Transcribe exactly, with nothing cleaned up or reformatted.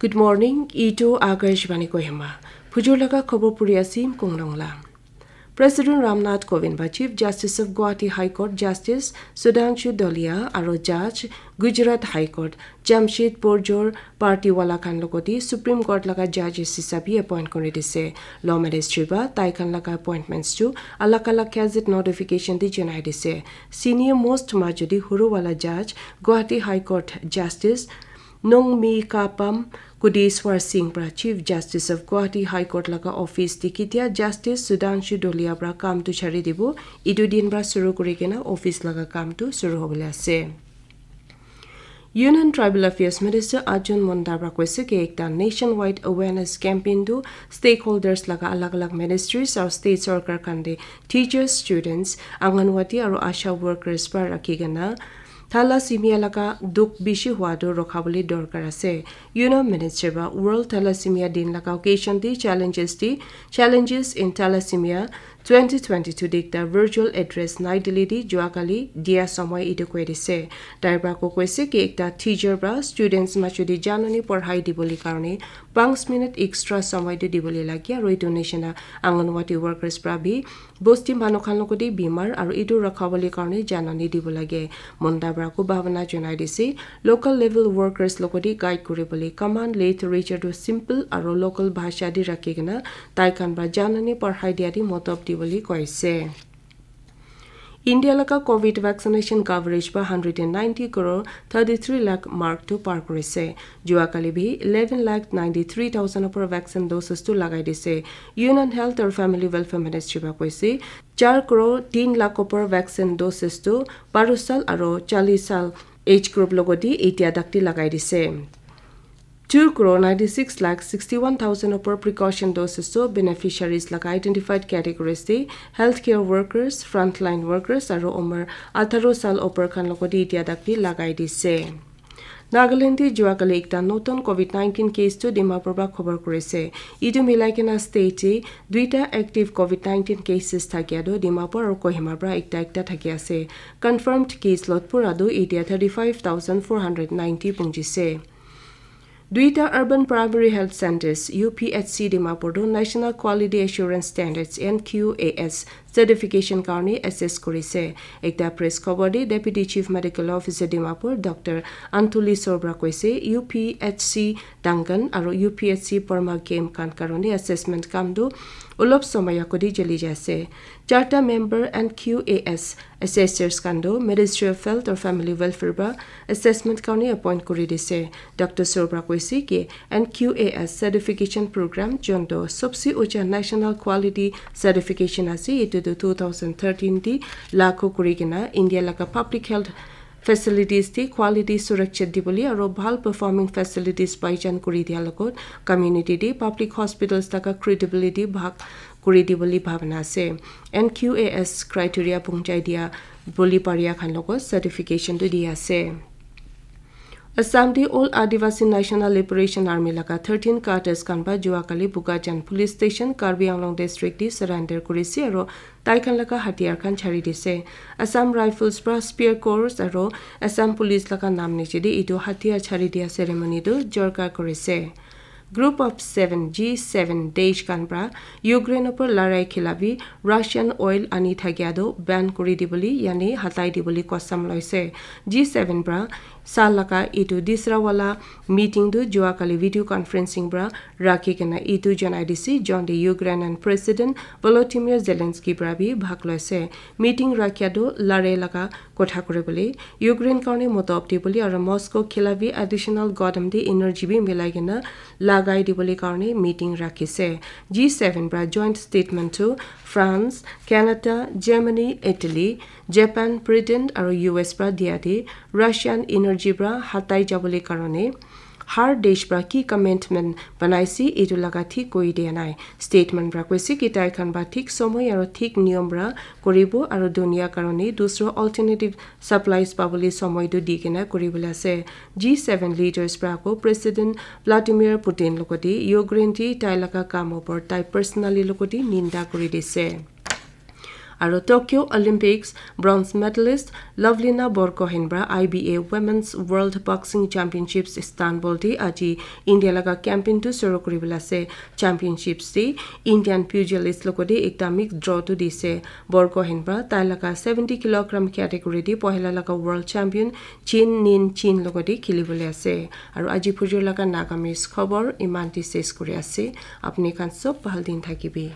Good morning, itu Akashvani Kohima. Phujur laga khobor puri asim Konglong la. President Ramnath Kovind ba Chief Justice of Guwahati High Court Justice Sudhanshu Dolia aro Judge Gujarat High Court Jamshedpur Jor party wala khan logoti Supreme Court laga judges hisabi appoint kuri dise. Law Ministry ba tai khan laga appointments chu alag alag gazette notification di janai dise. Senior most majudi huru wala judge Guwahati High Court Justice Nongmi Kapam Kudiswar Singh pra Chief Justice of Guwahati High Court laga office te ketia Justice Sudhanshu Dolia pra kam tu chari dibo, etu din pra shuru kuri kena office laga kam tu shuru hobole ase. Union Tribal Affairs Minister Arjun Munda pra koise ki ekta nationwide awareness campaign tu stakeholders laga alag alag ministries aru state sarkar khan te teachers, students, Anganwadi aru ASHA workers pra rakhi kena thalassemia laga dukh bishi hua tu rokha bole dorkar ase. Union Minister ba World Thalassemia Din laga occasion te challenges te challenges in thalassemia twenty twenty-two te ekta virtual address Nai Delhi te juakali dia samoi etu koi dise. Tai pra ko koise ki ekta teacher pra students machu te janani porhai dibole karone panch minute extra samoi tu dibole lage aru etu nishina Anganwadi workers pra bi bosti manu khan logoti bimar aru etu rakha bole karone janani dibo lage. Munda pra ko bhabana janai dise local level workers logoti guide kuri bole command literature tu simple aru local bhasha di rakhi kena tai khan pra janani porhai dia di motob dibole koise. India laga covid vaccination coverage ba hundred and ninety crore thirty-three lakh mark tu par kurise. Juakali bi eleven lakh ninety-three thousand opor vaccine doses tu lagai dise. Union Health aru Family Welfare Ministry ba koise char crore tin lakh opor vaccine doses tu baro sal aru challis sal age group logoti etia dakti lagai dise. Two crore ninety-six lakh sixty-one thousand opor precaution doses tu beneficiaries laga identified categories te healthcare workers, frontline workers aru umar atharo sal opor khan logoti etia dakti lagai dise. Nagaland te juakali ekta notun covid nineteen case tu Dimapur pra khobor kurise. Etu milai kena state te duita active covid nineteen cases thakia tu Dimapur aru Kohima pra ekta ekta thaki ase. Confirmed case lot pura tu etia thirty-five thousand four hundred ninety punjise. Duita Urban Primary Health Centres, U P H C Dimapur tu National Quality Assurance Standards, N Q A S, certification karone assess kurise. Ekta press khobor te Deputy Chief Medical Officer Dimapur Doctor Antuli Sorbra koise, U P H C Duncan aru U P H C Porma Game khan karone assessment kam tu olop somoy agoti chali jai ase. Charta member N Q A S assessors khan tu Ministry of Health or Family Welfare pra assessment karone appoint kuri dise. Doctor Sorbra koise ki N Q A S certification program jonto sobse ucha national quality certification ase, etu tu two thousand thirteen te lagu kuri kena India laga public health facilities te quality surakshit dibole aru bhal performing facilities paijan kuri dia logot community te public hospitals laga credibility bhag kuri dibole bhabana ase. N Q A S criteria pungjai dia boli paria khan logot certification tu di ase. Assam te All Adivasi National Liberation Army laga thirteen cadres khan ba juakali Bokajan Police Station, Karbi Anglong District te surrender kurise aru tai khan laga hatiyar khan chari dise. Assam Rifles pra spear corps aru Assam Police laga nam niche te etu hatiyar chari dia ceremony tu jorkar kurise. Group of Seven, G seven, desh khan pra Ukraine upor larai khilafi Russian oil ani thakia tu ban kuri dibole yani hatai dibole kosam loise. G seven pra sa laga etu disra wala meeting tu juakali video conferencing pra rakhi kena etu janai dise, jonte Ukrainian President Volodymyr Zelensky pra bi bhag loise. Meeting rakhia tu larai laga kotha kuri bole, Ukraine karone motob di bole aru Moscow khilafi additional godam di energy bi milai kena lagai di bole karone meeting rakhise. G seven pra joint statement tu France, Canada, Germany, Italy, Japan, Britain aru U S pra dia di Russian energy pra hatai jabole karone har desh pra ki commitment banaise, etu laga thik koi dia nai. Statement pra koise ki tai khan ba thik somoy aru thik niyom pra koribo aru dunia karone dusra alternative supplies pabole somoy tu di kena koribole ase. G seven leaders pra ako President Vladimir Putin logote Ukraine te tai laga kam opor tai personally logote ninda kuri dise. Aro Tokyo Olympics bronze medalist Lovelina Borgohain pra I B A Women's World Boxing Championships Istanbul te aji India laga campaign tu suru kuribole ase. Championships te Indian pugilist logote ekta mixed draw tu dise. Borgohain pra tai laga seventy kilogram category te pohila laga world champion Chin Nin Chin logote khilibole ase. Aro aji phujur laga Nagamese khobor iman te ses kuri ase. Apni khan sob bhal din thakibi.